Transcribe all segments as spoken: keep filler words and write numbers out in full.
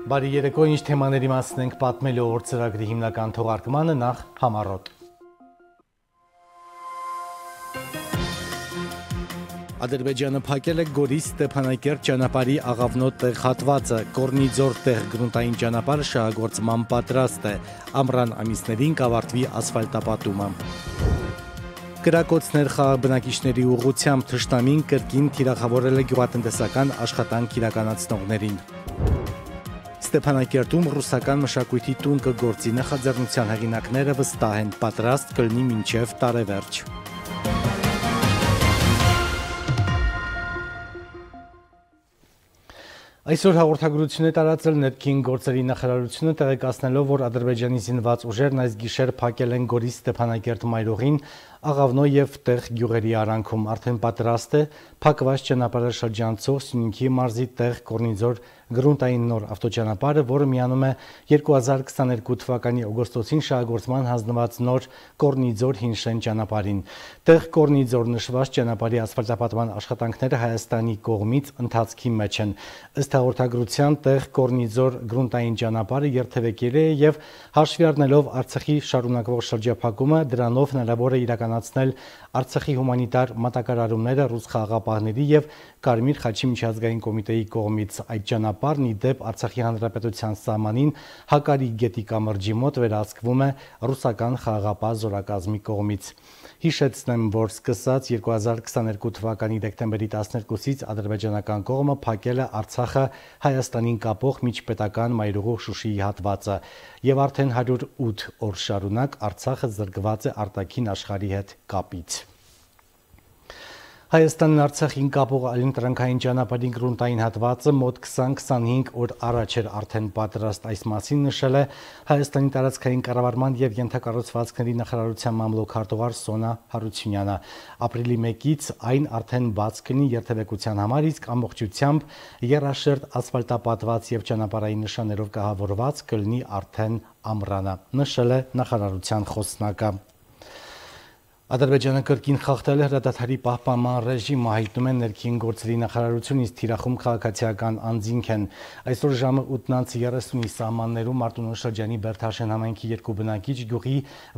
Բարի երեկո, ինչ թեմաների մասին ենք պատմելու օր ծրագրի հիմնական թողարկմանը, նախ համառոտ։ Ադրբեջանը փակել է Գորիս Ստեփանակերտ ճանապարհի աղավնոտ տեղ հատվածը, Կորնիձոր տեղ գրունտային ճանապարհը շահագործման պատրաստ է, ամռան ամիսներին կավարտվի ասֆալտապատումը։ Կրակոցներ խաղաղ բնակիչների ուղղությամբ թշնամին կրկին թիրախավորել է գյուղատնտեսական աշխատանք իրականացնողներին։ Ստեփանակերտում ռուսական մշակույթի տուն կգործի, նախաձեռնության հեղինակները վստահ են, պատրաստ կլինի մինչև տարեվերջ։ Այսօր հաղորդագրություն է տարածել ներքին գործերի նախարարությունը, տեղեկացնելով, որ Ադրբեջանի զինված ուժերն այս գիշեր փակել են Գորիս Ստեփանակերտ մայրուղին Աղավնո եւ տեղ գյուղերի արանքում, արդեն պատրաստ է փակված ճանապարհը շրջանցող Սյունիքի մարզի տեղ Կորնիձոր գրունտային նոր ավտոճանապարհը, որը միանում է երկու հազար քսաներկու թվականի օգոստոսին շահագործման հանձնված նոր Կորնիձոր Հինշեն ճանապարհին։ Տեղ Կորնիձոր նշված ճանապարհի ասֆալտապատման աշխատանքները Հայաստանի կողմից ընթացքի մեջ են։ Ըստ հաղորդագրության, տեղ Կորնիձոր գրունտային ճանապարհը երթևեկել է եւ հաշվի առնելով Արցախի շարունակվող շրջափակումը, դրանով հնարավոր է իրականացնել Արցախի հումանիտար մատակարարումները ռուս խաղաղապահների եւ Կարմիր խաչի միջազգային կոմիտեի կողմից։ Այդ ճանապարհն ի դեպ Արցախի հանրապետության սահմանին Հակարի գետի կամրջի մոտ վերահսկվում է ռուսական խաղաղապահ զորակազմի կողմից։ Հիշեցնեմ, որ սկսած երկու հազար քսաներկու թվականի դեկտեմբերի տասներկուսից ադրբեջանական կողմը փակել է Արցախը Հայաստանին կապող միջպետական մայրուղու Շուշիի հատվածը եւ արդեն հարյուր ութ օր շարունակ Արցախը զրկված է արտաքին աշխարհի հետ կապից։ Հայաստանն Արցախին կապող այլընտրանքային ճանապարհի գրունտային հատվածը մոտ քսան քսանհինգ օր առաջ էր արդեն պատրաստ, այս մասին նշել է Հայաստանի տարածքային կառավարման եւ ենթակառուցվածքների նախարարության մամլոք-քարտուղար Սոնա Հարությունյանը։ Ապրիլի մեկից այն արդեն բաց կլինի երթևեկության համար, իսկ ամբողջությամբ եռաշերտ ասֆալտապատված եւ ճանապարհային նշաններով կահավորված կլինի արդեն ամռանը, նշել է նախարարության խոսնակը։ Ադրբեջանը կրկին խախտել է հրադադարի պահպանման ռեժիմը, հայտնում են ներքին գործերի նախարարությունից, իսկ թիրախում քաղաքացիական անձինք են։ Այսօր ժամը ութ երեսունի սահմաններում Մարտունու շրջանի Բերթաշեն համայնքի երկու բնակիչ գյուղի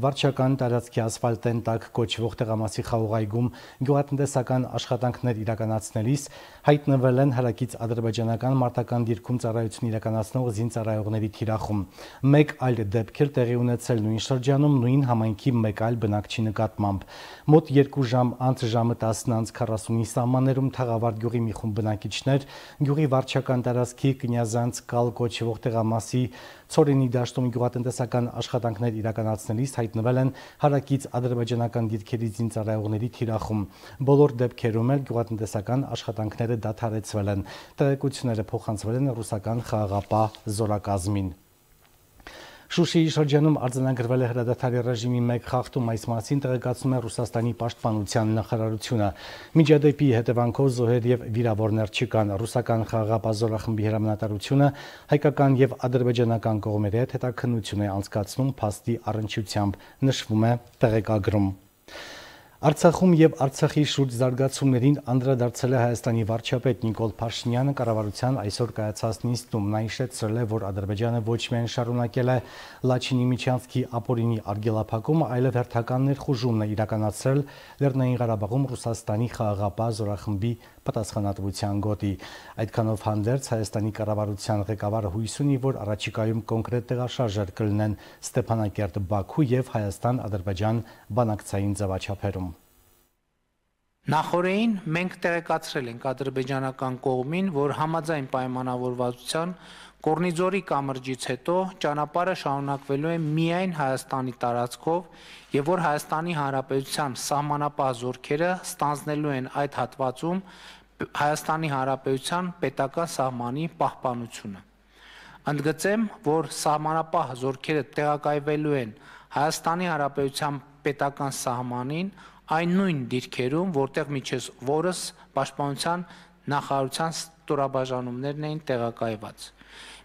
վարչական տարածքի ասֆալտեն տակ կոչվող տեղամասի խաղողայգում գյուղատնտեսական աշխատանքներ իրականացնելիս հայտնվել են հարակից ադրբեջանական մարտական դիրքում ծառայություն իրականացնող զինծառայողների թիրախում։ Մեկ այլ դեպք էլ տեղի ունեցել նույն շրջանում, նույն համայնքի մեկ այլ բնակչի նկատմամբ։ Մոտ երկու ժամ անց ժամը տասն քառասունի սահմաններում Թաղավարտ գյուղի մի խումբ բնակիչներ գյուղի վարչական տարածքի Կնյազանց կալ կոչվող տեղամասի Ցորենի դաշտում գյուղատնտեսական աշխատանքներ իրականացնելիս հայտնվել են հարակից ադրբեջանական դիրքերի զինծառայողների թիրախում։ Բոլոր դեպքերում էլ գյուղատնտեսական աշխատանքները դադարեցվել են։ Տեղեկությունները փոխանցվել են ռուսական խաղաղապահ զորակազմին։ Շուշիի շրջանում արձանագրվել է հրադադարի ռեժիմի մեկ խախտում, այս մասին տեղեկացնում է Ռուսաստանի պաշտպանության նախարարությունը։ Միջադեպի հետևանքով զոհեր եւ վիրավորներ չկան։ Ռուսական խաղաղապահ զորախմբի հրամանատարությունը հայկական եւ ադրբեջանական կողմերի հետ հետաքննություն է անցկացնում փաստի առնչությամբ, նշվում է տեղեկագրում։ Արցախում եւ Արցախի շուրջ զարգացումներին անդրադարձել է Հայաստանի վարչապետ Նիկոլ Փաշինյանը կառավարության այսօր կայացած նիստում։ Նա հիշեցրել է, որ Ադրբեջանը ոչ միայն շարունակել է Լաչինի Միչանսկի ապօրինի արգելափակումը, այլև հերթական ներխուժումն է իրականացրել Լեռնային Ղարաբաղում Ռուսաստանի խաղաղապահ զորախմբի պատասխանատվության գոտի։ Այդքանով հանդերձ Հայաստանի կառավարության ղեկավարը հույս ունի, որ առաջիկայում կոնկրետ տեղաշարժեր կլինեն Ստեփանակերտ, Բաքու եւ Հայաստան-Ադրբեջան բանակցային ձևաչափերում։ Նախորդին մենք տեղեկացրել ենք ադրբեջանական կողմին, որ համաձայն պայմանավորվածության Կորնիձորի կամրջից հետո ճանապարհը շարունակվելու է միայն Հայաստանի տարածքով եւ որ Հայաստանի Հանրապետության սահմանապահ զորքերը ստանձնելու են այդ հատվածում Հայաստանի Հանրապետության պետական սահմանի պահպանությունը։ Ընդգծեմ, որ սահմանապահ զորքերը տեղակայվելու են Հայաստանի Հանրապետության պետական սահմանին այն նույն դիրքերում, որտեղ միջև որս պաշտպանության նախարարության ստորաբաժանումներն էին տեղակայված։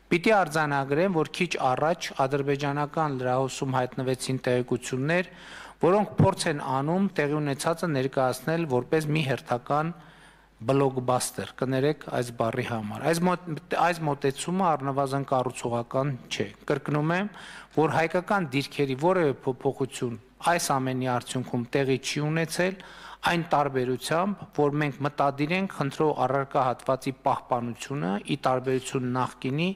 Պիտի արձանագրեմ, որ քիչ առաջ ադրբեջանական լրահոսում հայտնվեցին տեղեկություններ, որոնք փորձ են անում տեղի ունեցածը ներկայացնել որպես մի հերթական բլոկբաստեր, կներեք այս բառի համար։ Այս այս մոտեցումը առնվազն կառուցողական չէ։ Կրկնում եմ, որ հայկական դիրքերի որևէ փոփոխություն այս ամենի արդյունքում տեղի չի ունեցել, այն տարբերությամբ, որ մենք մտադիր ենք խնդրող առարկա հատվածի պահպանությունը ի տարբերություն նախկինի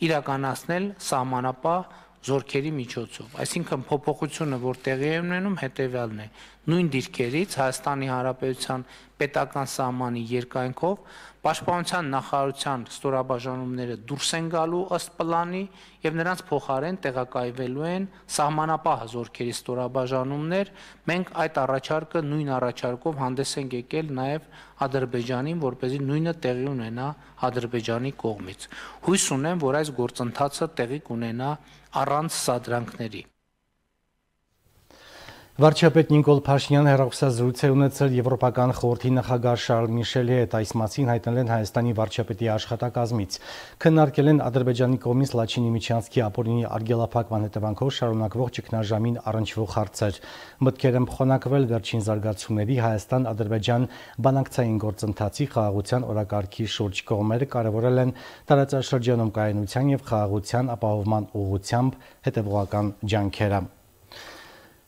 իրականացնել սահմանապահ զորքերի միջոցով։ Այսինքն փոփոխությունը, որ տեղի է ունենում, հետևյալն է. նույն դիրքերից Հայաստանի Հանրապետության պետական սահմանի երկայնքով Պաշտպանության նախարարության ստորաբաժանումները դուրս են գալու ըստ պլանի եւ նրանց փոխարեն տեղակայվելու են սահմանապահ զորքերի ստորաբաժանումներ։ Մենք այդ առաջարկը նույն առաջարկով հանդես ենք եկել նաեւ Ադրբեջանին, որպեսզի նույնը տեղի ունենա Ադրբեջանի կողմից։ Հույս ունեմ, որ այս գործընթացը տեղի կունենա առանց սադրանքների։ Վարչապետ Նիկոլ Փաշինյանը հեռախոսազրույց է ունեցել Եվրոպական խորհրդի նախագահ Շարլ Միշելի հետ, այս մասին հայտնել են Հայաստանի վարչապետի աշխատակազմից։ Քննարկել են Ադրբեջանի կողմից Լաչինի Միջանցքի ապօրինի արգելափակման հետևանքով շարունակվող ճգնաժամին առնչվող հարցեր։ Մտքեր են փոխանակվել վերջին զարգացումների Հայաստան-Ադրբեջան բանակցային գործընթացի խաղաղության օրակարգի շուրջ։ Կողմերը կարևորել են տարածաշրջանում կայունության եւ խաղաղության ապահովման ուղղությամբ հետեւողական ջանքերը։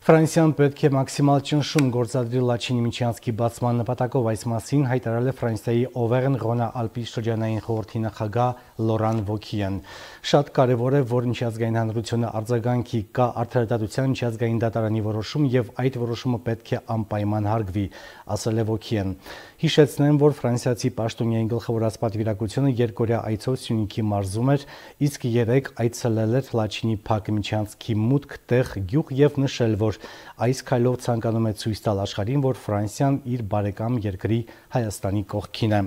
Ֆրանսիան պետք է մաքսիմալ ճնշում գործադրի Լաչինի Միջանցքի բացման նպատակով, այս մասին հայտարարել է Ֆրանսիայի Օվերն-Ռոնա-Ալպի շրջանային խորհրդի նախագահ Լորան Վոքիան։ Շատ կարևոր է, որ միջազգային հանրությունը արձագանքի, կա արդարադատության միջազգային դատարանի որոշում եւ այդ որոշումը պետք է անպայման հարգվի, ասել է Վոքիան։ Հիշեցնեմ, որ ֆրանսիացի պաշտոնյայի գլխավորած պատվիրակությունը երկօրյա այցով Սյունիքի մարզում էր, իսկ երեկ այցելել էր Լաչինի Փակ Միջանցքի մուտք տեղ գյուղ եւ նշել, որ այս քայլով ցանկանում է ցույց տալ աշխարհին, որ Ֆրանսիան իր բարեկամ երկրի Հայաստանի կողքին է։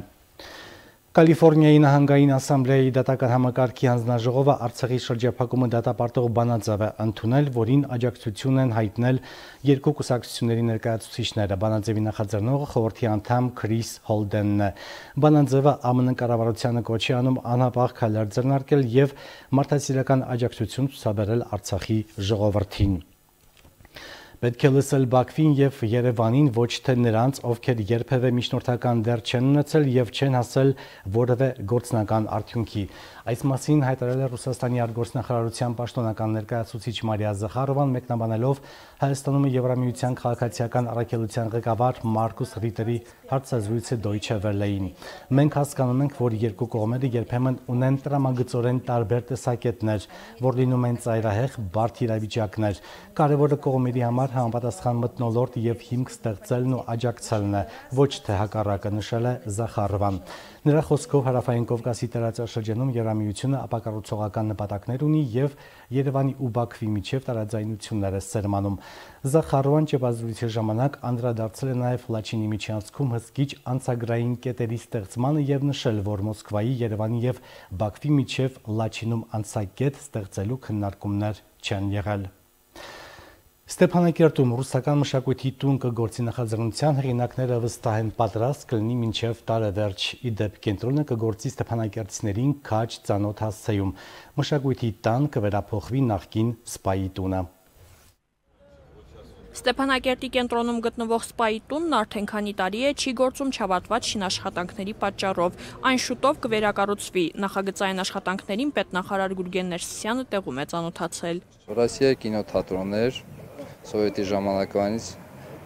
Կալիֆոռնիայի նահանգային ասամբլեայի դատական համակարգի հանձնաժողովը Արցախի շրջափակումը դատապարտող բանաձև է ընդունել, որին աջակցություն են հայտնել երկու կուսակցությունների ներկայացուցիչները։ Բանաձևի նախաձեռնողը խորհրդի անդամ Քրիս Հոլդենն է։ Բանաձևը ԱՄՆ կառավարությանը կոչ է անում անհապաղ քայլեր ձեռնարկել եւ մարդասիրական աջակցություն ցուցաբերել Արցախի ժողովրդին։ Պետք է լսել Բաքվին եւ Երևանին, ոչ թե նրանց, ովքեր երբևէ միջնորդական դեր չեն ունեցել եւ չեն հասել որևէ գործնական արդյունքի։ Այս մասին հայտարարել է Ռուսաստանի արտգործնախարարության պաշտոնական ներկայացուցիչ Մարիա Զախարովան, մեկնաբանելով Հայաստանում Եվրամիության քաղաքացիական առաքելության ղեկավար Մարկուս Ռիտերի հարցազրույցը Deutsche Welle-ին։ Մենք հասկանում ենք, որ երկու կողմերը երբեմն ունեն տրամագծորեն տարբեր տեսակետներ, որ լինում են ծայրահեղ, բարդ իրավիճակներ։ Կարևորը կողմերի համար համապատասխան մթնոլորտ եւ հիմք ստեղծելն ու աջակցելն է, ոչ թե հակառակը, նշել է Զախարովան։ Նրա խոսքով Հարավային Կովկասի տարածաշրջանում Եվրամիությունը ապակառուցողական նպատակներ ունի եւ Երևանի ու Բաքվի միջև տարաձայնություններ է սերմանում։ Զախարովան ճեպազրույցի ժամանակ անդրադարձել է նաեւ Լաչինի միջանցքում հսկիչ անցագրային կետերի ստեղծմանը եւ նշել, որ Մոսկվայի, Երևանի եւ Բաքվի միջև Լաչինում անցակետ ստեղծելու քննարկումներ չեն եղել։ Ստեփանակերտում ռուսական մշակույթի տուն կգործի նախաձեռնության հեղինակները վստահ են պատրաստ կլինի մինչև տարեվերջ։ Ի դեպ կենտրոնը կգործի ստեփանակերտցիներին քաջ ծանոթ հասցեում։ Մշակույթի տան կվերափոխվի նախկին սպայի տունը։ Ստեփանակերտի կենտրոնում գտնվող սպայի տունն արդեն քանի տարի է չի գործում չավարտված շինաշխատանքների պատճառով։ Այն շուտով կվերակառուցվի։ Նախագծային աշխատանքներին պետնախարար Գուրգեն Ներսիսյանը տեղում է ծանոթացել։ Ռուսիայի կինոթատրոններ Սովետի ժամանակվանից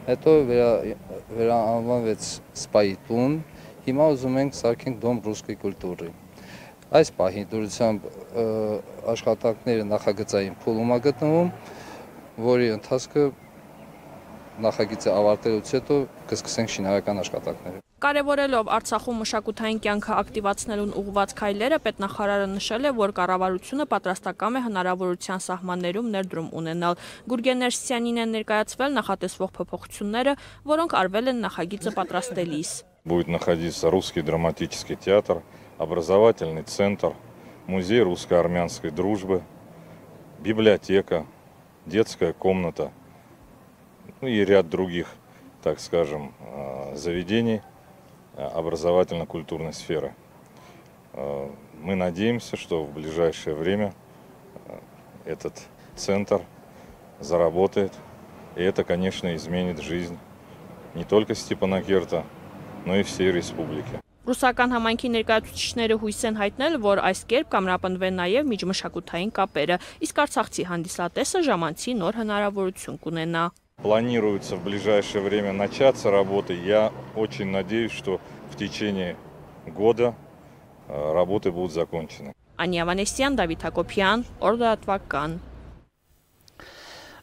հետո վերանվանվեց սպայի տուն, հիմա ուզում ենք սարքենք դոմ ռուսկի կուլտուրի։ Այս պահին դուրսությամբ աշխատանքները նախագծային փուլում է գտնվում, որի ընթացքը նախագիծը ավարտելուց հետո կսկսենք շինարարական աշխատանքները։ Կարևորելով Արցախում մշակութային կյանքը ակտիվացնելուն ուղղված քայլերը, պետնախարարը նշել է, որ կառավարությունը պատրաստակամ է հնարավորության սահմաններում ներդրում ունենալ։ Գուրգեն Ներսիսյանին են ներկայացվել նախատեսվող փոփոխությունները, որոնք արվել են նախագիծը պատրաստելիս։ Будет находиться русский драматический театр, образовательный центр, музей русско-армянской дружбы, библиотека, детская комната, ну и ряд других, так скажем, заведений образовательно-культурной сферы. Мы надеемся, что в ближайшее время этот центр заработает, и это, конечно, изменит жизнь не только Степанакерта, но и всей республики. Ռուսական համայնքի ներկայացուցիչները հույս են հայտնել, որ այս կերպ կամրապնդվեն նաև միջմշակութային կապերը, իսկ Արցախցի հանդիսատեսը ժամանցի նոր հնարավորություն կունենա։ Планируется в ближайшее время начаться работы. Я очень надеюсь, что в течение года работы будут закончены. Անիա Վանեսյան, Դավիթ Հակոբյան, Օրդատվական։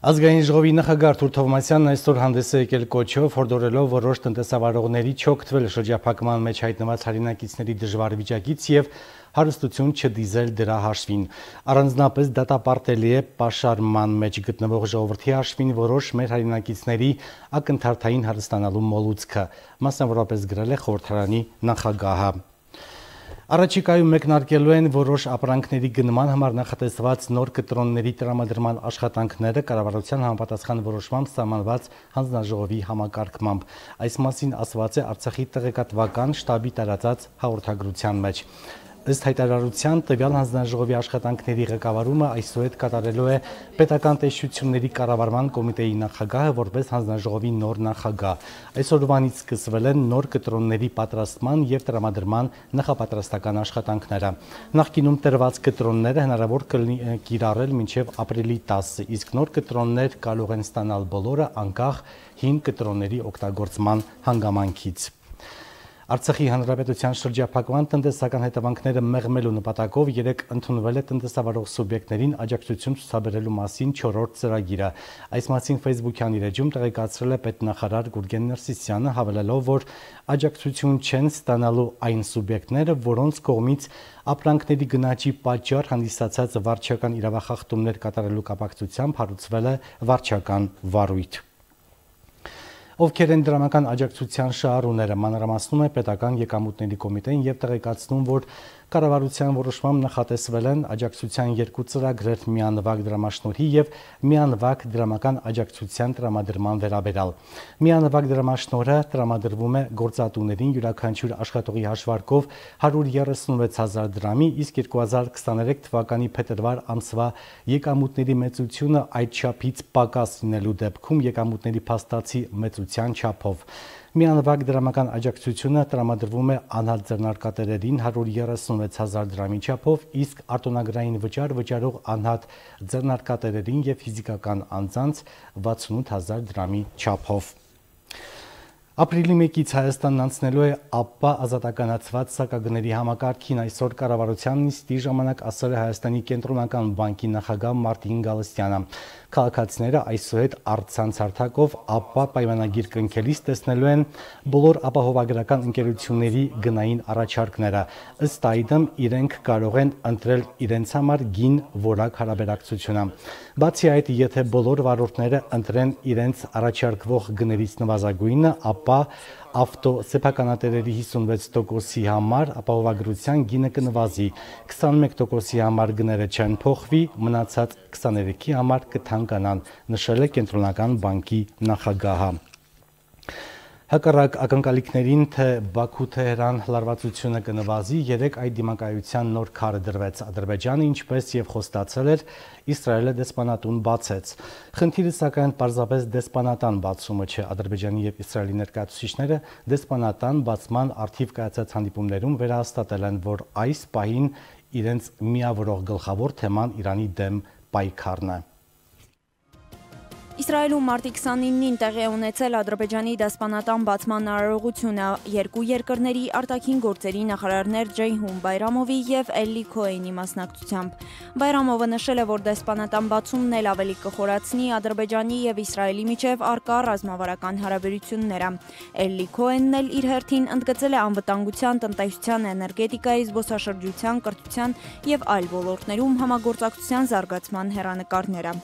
Ազգային ժողովի նախագահ Արթուր Թովմասյանն այսօր հանդես է եկել կոչով, հորդորելով որոշ տնտեսավարողների չօգտվել շրջափակման մեջ հայտնված հայրենակիցների դժվար վիճակից եւ հարստություն չդիզել դրա հաշվին։ Առանձնապես դատապարտելի է պաշարման մեջ գտնվող ժողովրդի հաշվին որոշ մեր հայրենակիցների ակնթարթային հարստանալու մոլուցքը, մասնավորապես գրել է խորհրդարանի նախագահը։ Առաջիկայում մեկնարկելու են որոշ ապրանքների գնման համար նախատեսված նոր կտրոնների տրամադրման աշխատանքները կառավարության համապատասխան որոշմամբ սահմանված հանձնաժողովի համակարգմամբ։ Այս մասին ասված է Արցախի տեղեկատվական շտաբի տարածած հաղորդագրության մեջ։ Ըստ հայտարարության տվյալ հանձնաժողովի աշխատանքների ղեկավարումը այսուհետ կատարելու է պետական տեսչությունների կառավարման կոմիտեի նախագահը որպես հանձնաժողովի նոր նախագահ։ Այսօրվանից սկսվել են նոր կտրոնների պատրաստման եւ տրամադրման նախապատրաստական աշխատանքները։ Նախկինում տրված կտրոնները հնարավոր կլինի կիրառել մինչեւ ապրիլի տասը, իսկ նոր կտրոններ կարող են ստանալ բոլորը անկախ հին կտրոնների օգտագործման հանգամանքից։ Արցախի հանրապետության շրջափակման տնտեսական հետևանքները մեղմելու նպատակով երեկ ընդունվել է տնտեսավարող սուբյեկտներին աջակցություն ցուցաբերելու մասին չորրորդ ծրագիրը։ Այս մասին Facebook-յան իր էջում տեղեկացրել է պետնախարար Գուրգեն Ներսիսյանը, հավելելով, որ աջակցություն չեն ստանալու այն սուբյեկտները, որոնց կողմից ապրանքների գնաճի պատճառ հանդիսացած վարչական իրավախախտումներ կատարելու կապակցությամբ հարուցվել է վարչական վարույթ։ Ովքեր են դրամական աջակցության շահառուները, մանրամասնում է պետական եկամուտների կոմիտեն եւ տեղեկացնում, որ կառավարության որոշմամբ նախատեսվել են աջակցության երկու ծրագրեր՝ միանվագ դրամաշնորհի եւ միանվագ դրամական աջակցության տրամադրման վերաբերյալ։ Միանվագ դրամաշնորհը տրամադրվում է գործատուներին յուրաքանչյուր աշխատողի հաշվարկով հարյուր երեսունվեց հազար դրամի, իսկ երկու հազար քսաներեք թվականի փետրվար ամսվա եկամուտների մեծությունը այդ չափից պակաս լինելու դեպքում եկամուտների փաստացի մեծության չափով։ Միանվագ դրամական աջակցությունը տրամադրվում է անհատ ձեռնարկատերերին հարյուր երեսունվեց հազար դրամի չափով, իսկ արտոնագրային վճար վճարող անհատ ձեռնարկատերերին եւ ֆիզիկական անձանց վաթսունութ հազար դրամի չափով։ Ապրիլի մեկից Հայաստանն անցնելու է ԱՊՊԱ ազատականացված սակագների համակարգին, այսօր կառավարության նիստի ժամանակ ասել է Հայաստանի կենտրոնական բանկի նախագահ Մարտին Գալստյանը։ Քաղաքացիները այսուհետ առցանց հարթակով ԱՊՊԱ պայմանագիր կնքելիս տեսնելու են բոլոր ապահովագրական ընկերությունների գնային առաջարկները։ Ըստ այդմ իրենք կարող են ընտրել իրենց համար գին որակ հարաբերակցությունը։ Բացի այդ, եթե բոլոր վարորդները ընտրեն իրենց առաջարկվող գներից նվազագույնը, ապա ավտո սեփականատերերի հիսունվեց տոկոսի համար ապահովագրության գինը կնվազի, քսանմեկ տոկոսի համար գները չեն փոխվի, մնացած քսաներեքի համար կթանկանան, նշել է կենտրոնական բանկի նախագահը։ Հակառակ ակնկալիքներին, թե Բաքու-Թեհրան լարվածությունը կնվազի, երեկ այդ դիմակայության նոր քարը դրվեց։ Ադրբեջանը, ինչպես եւ խոստացել էր, Իսրայելը դեսպանատուն բացեց։ Խնդիրը սակայն պարզապես դեսպանատան բացումը չէ։ Ադրբեջանի եւ Իսրայելի ներկայացուցիչները դեսպանատան բացման առթիվ կայացած հանդիպումներում վերահաստատել են, որ այս պահին իրենց միավորող գլխավոր թեման Իրանի դեմ պայքարն է։ Իսրայելում մարտի քսանինին տեղի է ունեցել Ադրբեջանի դեսպանատան բացման արարողությունը երկու երկրների արտաքին գործերի նախարարներ Ջեյհուն Բայրամովի եւ Էլլի Քոհենի մասնակցությամբ։ Բայրամովը նշել է, որ դեսպանատան բացումն էլ ավելի կխորացնի Ադրբեջանի եւ Իսրայելի միջև առկա ռազմավարական հարաբերությունները։ Էլլի Քոհենն էլ իր հերթին ընդգծել է անվտանգության, տնտեսության, էներգետիկայի, զբոսաշրջության, կրթության եւ այլ ոլորտներում համագործակցության զարգացման հեռանկարները։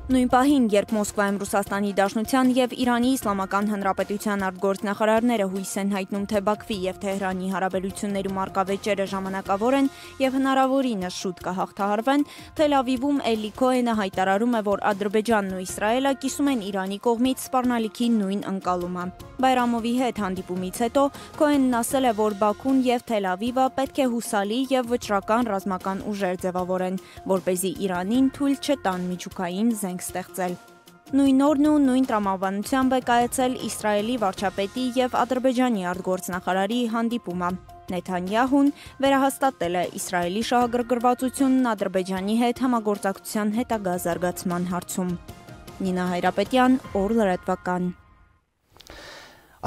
Նույն պահին, երբ Մոսկվայում Ռուսաստանի Դաշնության եւ Իրանի Իսլամական Հանրապետության արտգործնախարարները հույս են հայտնում, թե Բաքվի եւ Թեհրանի հարաբերություններում առկա վեճերը ժամանակավոր են եւ հնարավորինս շուտ կհաղթահարվեն, Թել Ավիվում Էլլի Քոհենը հայտարարում է, որ Ադրբեջանն ու Իսրայելը կիսում են Իրանի կողմից սպառնալիքի նույն ընկալումը։ Բայրամովի հետ հանդիպումից հետո Քոհենն ասել է, որ Բաքուն եւ Թել Ավիվը պետք է հուսալի եւ վճռական ռազմական ուժեր ձևավորեն, որպեսզի Իրանին թույլ չտան միջուկային զենք ստեղծել։ Նույն օրն ու նույն տրամաբանությամբ է կայացել Իսրայելի վարչապետի և Ադրբեջանի արտգործնախարարի հանդիպումը։ Նեթանյահուն վերահաստատել է Իսրայելի շահագրգռվածությունն Ադրբեջանի հետ համագործակցության հետագա զարգացման հարցում։ Նինա Հայրապետյան, օր լրատվական։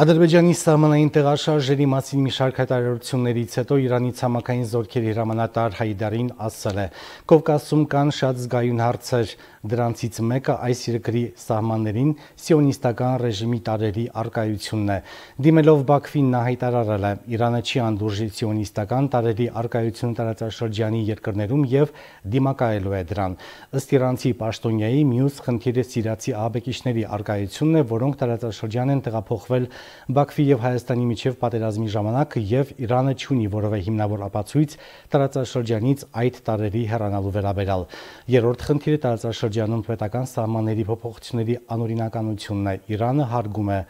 Ադրբեջանի սահմանային տեղաշարժերի մասին մի շարք հայտարարություններից հետո Իրանի ցամաքային զորքերի հրամանատար Հայդարին ասել է. Կովկասում կան շատ զգայուն հարցեր, դրանցից մեկը այս երկրի սահմաններին սիոնիստական ռեժիմի տարրերի առկայությունն է։ Դիմելով Բաքվին նա հայտարարել է. Իրանը չի անդուրժի սիոնիստական տարրերի առկայությունը տարածաշրջանի երկրներում եւ դիմակայելու է դրան։ Ըստ իրանցի պաշտոնյայի մյուս խնդիրը սիրիացի ահաբեկիչների առկայությունն է, որոնք տարածաշրջան են տեղափոխվել Բաքվի եւ Հայաստանի միջև պատերազմի ժամանակ եւ Իրանը չունի որևէ հիմնավոր ապացույց տարածաշրջանից այդ տարրերի հեռանալու վերաբերյալ։ Երրորդ խնդիրը տարածաշրջանում պետական սահմանների փոփոխությունների անօրինականությունն է։ Իրանը հարգում է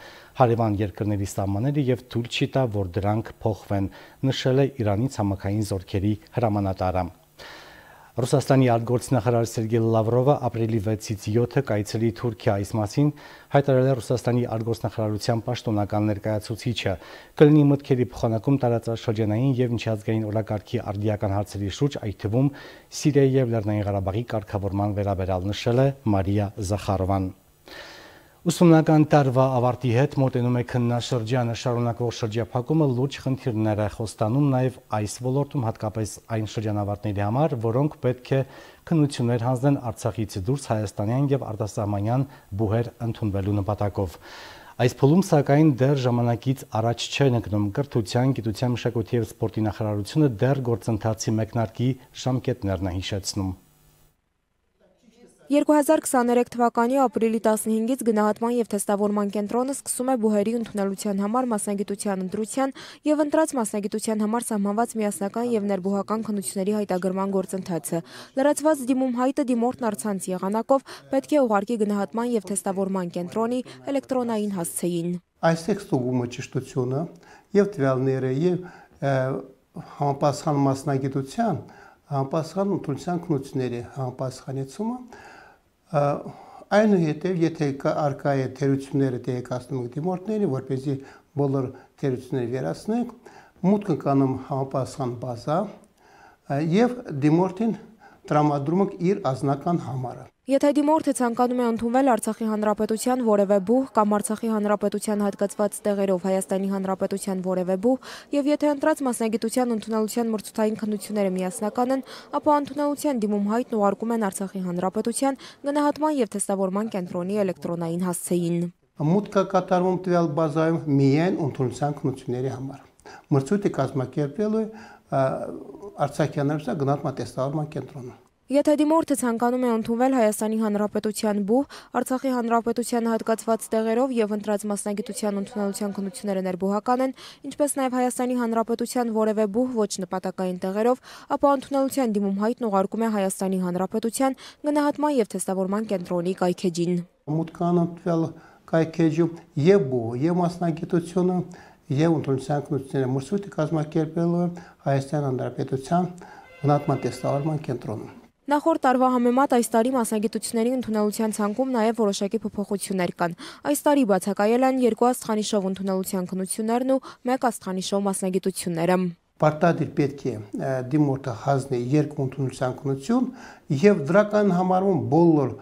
հարևան երկրների սահմանները եւ թույլ չի տա, որ դրանք փոխվեն, նշել է Իրանի ցամաքային զորքերի հրամանատարը։ Ռուսաստանի արտգործնախարար Սերգեյ Լավրովը ապրիլի վեցից յոթը կայցելի Թուրքիա, այս մասին հայտարարել է Ռուսաստանի արտգործնախարարության պաշտոնական ներկայացուցիչը։ Կլինի մտքերի փոխանակում տարածաշրջանային եւ միջազգային օրակարգի արդիական հարցերի շուրջ, այդ թվում Սիրիայի եւ Լեռնային Ղարաբաղի կարգավորման վերաբերյալ, նշել է Մարիա Զախարովան։ Ուսումնական տարվա ավարտի հետ մոտենում է քննաշրջանը, շարունակվող շրջափակումը լուրջ խնդիրներ է խոստանում նաև այս ոլորտում, հատկապես այն շրջանավարտների համար, որոնք պետք է քննություններ հանձնեն Արցախից դուրս հայաստանյան եւ արտասահմանյան բուհեր ընդունվելու նպատակով։ Այս փուլում սակայն դեռ ժամանակից առաջ չէ ընկնում կրթության, գիտության, մշակույթի եւ սպորտի նախարարությունը դեռ գործընթացի մեկնարկի ժամկետներն է հիշեցնում։ երկու հազար քսաներեք թվականի ապրիլի տասնհինգից գնահատման եւ թեստավորման կենտրոնը սկսում է բուհերի ընդունելության համար մասնագիտության ընտրության եւ ընտրած մասնագիտության համար սահմանված միասնական եւ ներբուհական քննությունների հայտագրման գործընթացը։ Լրացված դիմում հայտը դիմորդն առցանց եղանակով պետք է ուղարկի գնահատման եւ թեստավորման կենտրոնի էլեկտրոնային հասցեին։ Այստեղ ստուգումը ճշտությունը եւ տվյալները եւ համապատասխան մասնագիտության, համապատասխան ընտրության քննությունների համապատասխանեցումը այնուհետև, եթե արկա է թերությունները տեղեկացնում եք դիմորդներին, որպեսզի բոլոր թերությունները վերացնենք, մուտք կանում համապատասխան բազա եւ դիմորդին տրամադրում եք իր անձնական համարը։ Եթե դիմորդը ցանկանում է ընդունվել Արցախի Հանրապետության որևէ բուհ կամ Արցախի Հանրապետության հատկացված տեղերով Հայաստանի Հանրապետության որևէ բուհ եւ եթե ընտրած մասնագիտության ընդունելության մրցութային քննությունները միասնական են, ապա ընդունելության դիմում հայտն ուղարկում են Արցախի Հանրապետության գնահատման եւ թեստավորման կենտրոնի էլեկտրոնային հասցեին։ Մուտքը կատարվում տվյալ բազայում միայն ընդունելության քննությունների համար։ Մրցույթը կազմակերպելու Արցախի Հանրապետության գնահատման թեստավորման կենտրոնը։ Եթե դիմորդը ցանկանում է ընդունվել Հայաստանի Հանրապետության բուհ, Արցախի Հանրապետության հատկացված տեղերով եւ ընտրած մասնագիտության ընդունելության քննությունները ներբուհական են, ինչպես նաեւ Հայաստանի Հանրապետության որևէ բուհ ոչ նպատակային տեղերով, ապա ընդունելության դիմում հայտն ուղարկում է Հայաստանի Հանրապետության գնահատման եւ թեստավորման կենտրոնի կայքեջին։ Մուտքան տվյալ կայքեջում եւ բուհը եւ մասնագիտությունը եւ ընդունելության քննությունները մրցույթը կազմակերպելու Հայաստանի Հանրապետության գնահատման թեստավորման կենտրոնում։ Նախորդ տարվա համեմատ այս տարի մասնագիտությունների ընդունելության ցանկում նաև որոշակի փոփոխություններ կան։ Այս տարի բացակայել են երկու աստղանիշով ընդունելության քննություններն ու մեկ աստղանիշով մասնագիտությունները։ Պարտադիր պետք է դիմորդը հանձնի երկու ընդունելության քննություն եւ դրական համարվում բոլոր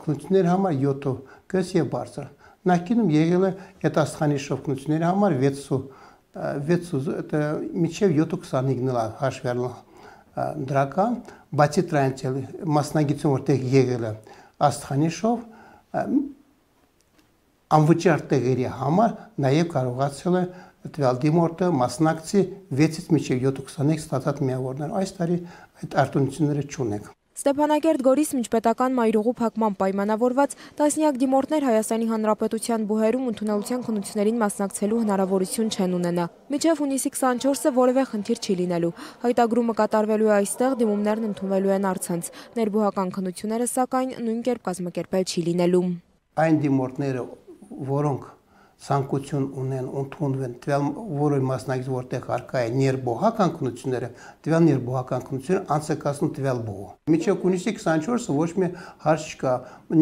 քննությունների համար յոթ կես եւ բարձր։ Նախկինում եղել է այդ աստղանիշով քննությունների համար վեց միջև յոթ քսանհինգ հաշվել դրական, բացի դրանից մասնագիտություն որտեղ եղել է աստղանիշով անվճար տեղերի համար նաև կարողացել է տվյալ դիմորդը մասնակցի վեցից մինչև յոթ քսանհինգ ստացած միավորներ։ Այս տարի այդ արտոնությունները չունենք։ Ստեփանակերտ Գորիս միջպետական մայրուղու փակման պայմանավորված տասնյակ դիմորդներ Հայաստանի Հանրապետության բուհերում ընդունելության քննություններին մասնակցելու հնարավորություն չեն ունենա։ Մինչև հունիսի քսանչորսը որևէ խնդիր չի լինելու։ Հայտագրումը կատարվելու է այստեղ, դիմումներն ընդունվելու են առցանց։ Ներբուհական քննությունները սակայն նույն կերպ կազմակերպել չի լինելու։ Այն դիմորդները, որոնք ցանկություն ունեն ընդունվեն տվյալ որը մասնակից որտեղ արկա է ներբողական քննությունները, տվյալ ներբողական քննությունները անցկացնում տվյալ բողը։ Մինչև հունիսի քսանչորսը ոչ մի հարց չկա։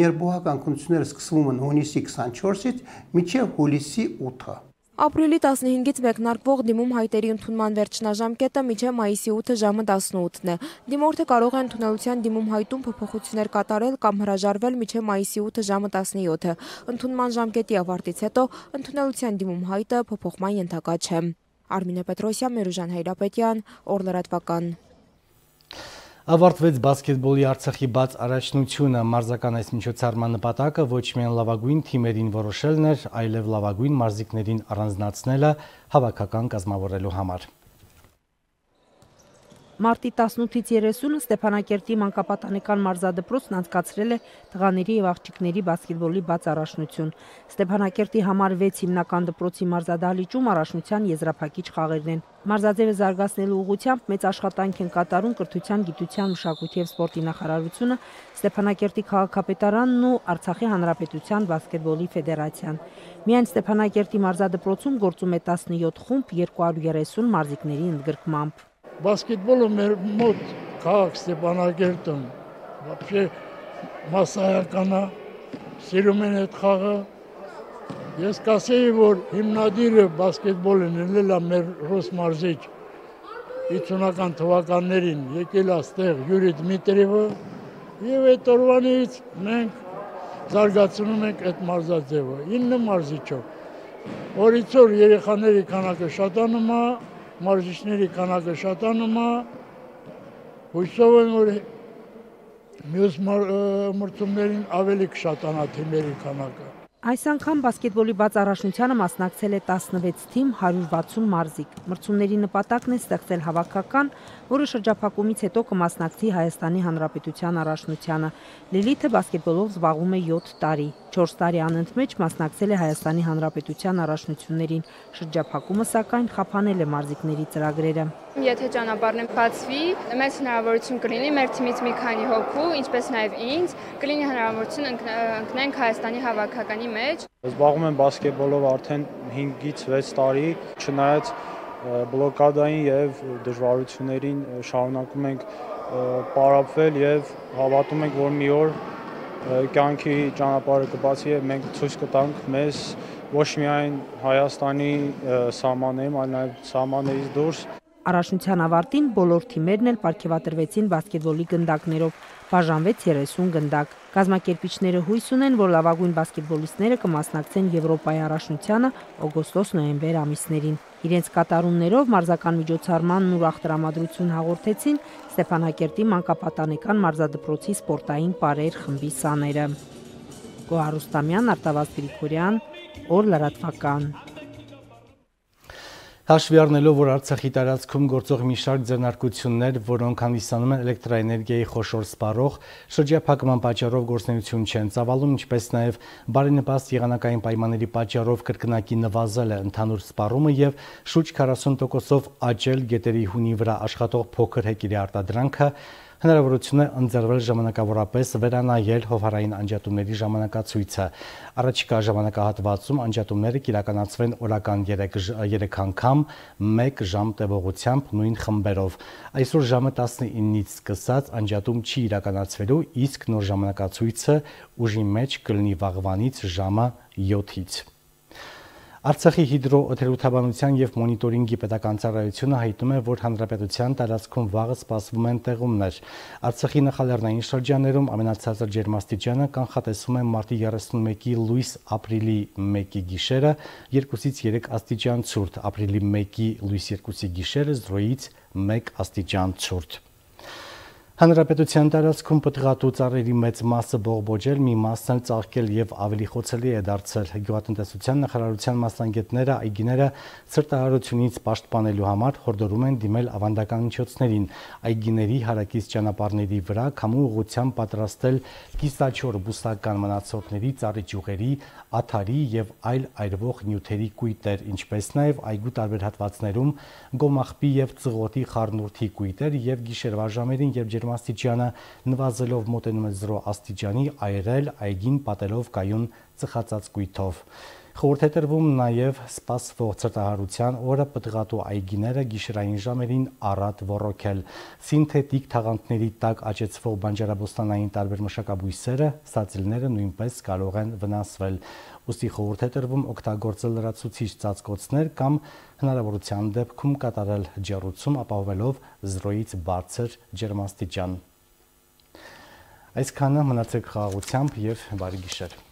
Ներբողական քննությունները սկսվում են հունիսի քսանչորսից մինչև հուլիսի ութը։ Ապրիլի տասնհինգից մեկնարկվող դիմում հայտերի ընդունման վերջնաժամկետը մինչև մայիսի ութը ժամը տասնութն է։ Դիմորդը կարող է ընդունելության դիմում հայտում փոփոխություններ կատարել կամ հրաժարվել մինչև մայիսի ութը ժամը տասնյոթը։ Ընդունման ժամկետի ավարտից հետո ընդունելության դիմում հայտը փոփոխման ենթակա չէ։ Արմինե Պետրոսյան, Մերուժան Հայրապետյան, Օրլրատվական։ Ավարտվեց բասկետբոլի Արցախի բաց առաջնությունը, մարզական այս միջոցառման նպատակը ոչ միայն լավագույն թիմերին որոշելն էր, այլև լավագույն մարզիկներին առանձնացնելը հավաքական կազմավորելու համար։ Մարտի տասնութից երեսունը Ստեփանակերտի մանկապատանեկան մարզադպրոցն անցկացրել է տղաների եւ աղջիկների բասկետբոլի բաց առաջնություն։ Ստեփանակերտի համար վեց հիմնական դպրոցի մարզադահլիճում առաջնության եզրափակիչ խաղերն են։ Մարզաձևը զարգացնելու ուղղությամբ մեծ աշխատանք են կատարում կրթության, գիտության, մշակույթի եւ սպորտի նախարարությունը, Ստեփանակերտի քաղաքապետարանն ու Արցախի հանրապետության բասկետբոլի ֆեդերացիան։ Միայն Ստեփանակերտի մարզադպրոցում գործում է տասնյոթ խումբ երկու հարյուր երեսուն մարզիկների ընդգրկմամբ։ Բասկետբոլը մեր մոտ քաղաք Ստեփանակերտում вообще մասսայական է, սիրում են այդ խաղը։ Ես կասեի, որ հիմնադիրը բասկետբոլն ելել է մեր ռուս մարզիչ հիսունական թվականներին եկել է այստեղ Յուրի Դմիտրիևը եւ այդ օրվանից մենք զարգացնում ենք այդ մարզաձևը ինը մարզիչով։ Օրից օր երեխաների քանակը շատանում է, մարզիչների քանակը շատանում է, հույսով եմ, որ մյուս մրցումներին ավելի կշատանա թիմերի քանակը։ Այս անգամ բասկետբոլի բաց առաջնությանը մասնակցել է տասնվեց թիմ, հարյուր վաթսուն մարզիկ։ Մրցումների նպատակն է ստեղծել հավաքական, որը շրջափակումից հետո կմասնակցի Հայաստանի Հանրապետության առաջնությանը։ Լիլիթը բասկետբոլով զբաղվում է յոթ տարի։ չորս տարի անընդմեջ մասնակցել է Հայաստանի Հանրապետության առաջնություններին։ Շրջափակումը սակայն խափանել է մարզիկների ծրագրերը։ Եթե ճանապարհն բացվի, մեծ հնարավորություն կլինի մեր թիմից մի քանի հոգու, ինչպես նաև ինձ, կլինի հնարավորություն ընկնենք Հայաստանի հավաքականի մեջ։ Զբաղվում եմ բասկետբոլով արդեն հինգից վեց տարի, չնայած բլոկադային եւ դժվարություններին շարունակում ենք պարապվել եւ հավատում ենք, որ մի օր կյանքի ճանապարհը կբացի եւ մենք ցույց կտանք մեզ ոչ միայն Հայաստանի սահմաններում, այլ նաեւ սահմաններից դուրս։ Առաջնության ավարտին բոլոր թիմերն էլ պարգևատրվեցին բասկետբոլի գնդակներով, բաժանվեց երեսուն գնդակ։ Կազմակերպիչները հույս ունեն, որ լավագույն բասկետբոլիստները կմասնակցեն Եվրոպայի առաջնությանը օգոստոս-նոյեմբեր ամիսներին։ Իրենց կատարումներով մարզական միջոցառմանն ուրախ տրամադրություն հաղորդեցին Ստեփանակերտի մանկապատանեկան մարզադպրոցի սպորտային պարեր խմբի սաները։ Գոհար Ռուստամյան, Արտավազդ Գրիգորյան, Օր լրատվական։ Հաշվի առնելով, որ Արցախի տարածքում գործող մի շարք ձեռնարկություններ, որոնք հանդիսանում են էլեկտրաէներգիայի խոշոր սպառող, շրջափակման պատճառով գործունեություն չեն ծավալում, ինչպես նաև բարենպաստ եղանակային պայմանների պատճառով կրկնակի նվազել է ընդհանուր սպառումը եւ շուրջ քառասուն տոկոսով աճել գետերի հունի վրա աշխատող փոքր հեկիրի արտադրանքը, հնարավորություն է ընձեռվել ժամանակավորապես վերանայել հովհարային անջատումների ժամանակացույցը։ Առաջիկա ժամանակահատվածում անջատումները կիրականացվեն օրական երեք անգամ մեկ ժամ տևողությամբ նույն խմբերով։ Այսօր ժամը տասնինից սկսած անջատում չի իրականացվելու, իսկ նոր ժամանակացույցը ուժի մեջ կլինի վաղվանից ժամը յոթից։ Արցախի հիդրոօթերոթաբանության եւ մոնիտորինգի պետական ծառայությունը հայտնում է, որ հանրապետության տարածքում վաղը սպասվում են տեղումներ։ Արցախի նախալեռնային շրջաններում ամենացածր ջերմաստիճանը կանխատեսվում է մարտի երեսունմեկի լույս ապրիլի մեկի գիշերը երկուսից երեք աստիճան ցուրտ, ապրիլի մեկի լույս երկուսի գիշերը զրոյից մեկ աստիճան ցուրտ։ Հանրապետության տարածքում պտղատու ծառերի մեծ մասը բողբոջել, մի մասն էլ ծաղկել եւ ավելի խոցելի է դարձել։ Գյուղատնտեսության նախարարության մասնագետները այգիները ցրտահարությունից պաշտպանելու համար հորդորում են դիմել ավանդական միջոցներին։ Այգիների հարակից ճանապարհների վրա քամու ուղղությամբ պատրաստել կիսաչոր բուսական մնացորդների, ծառի ճյուղերի, աթարի եւ այլ այրվող նյութերի կույտեր, ինչպես նաեւ այգու տարբեր հատվածներում գոմաղբի եւ ծղոտի խառնուրդի կույտեր եւ գիշերվա ժամերին, երբ ջերմաստիճանը նվազելով մոտենում է զրո աստիճանի, այրել այգին պատելով կայուն ծխածած կույտով։ Խորհուրդ է տրվում նաև սպասվող ցրտահարության օրը պտղատու այգիները գիշերային ժամերին առատ ոռոգել։ Սինթետիկ թաղանթների տակ աճեցվող բանջարաբոստանային տարբեր մշակաբույսերը, սածիլները նույնպես կարող են վնասվել։ Ուստի խորհուրդ է տրվում օգտագործել լրացուցիչ ծածկոցներ կամ հնարավորության դեպքում կատարել ջեռուցում, ապահովելով զրոյից բարձր ջերմաստիճան։ Այսքանը, մնացեք խաղաղությամբ և բարի գիշեր։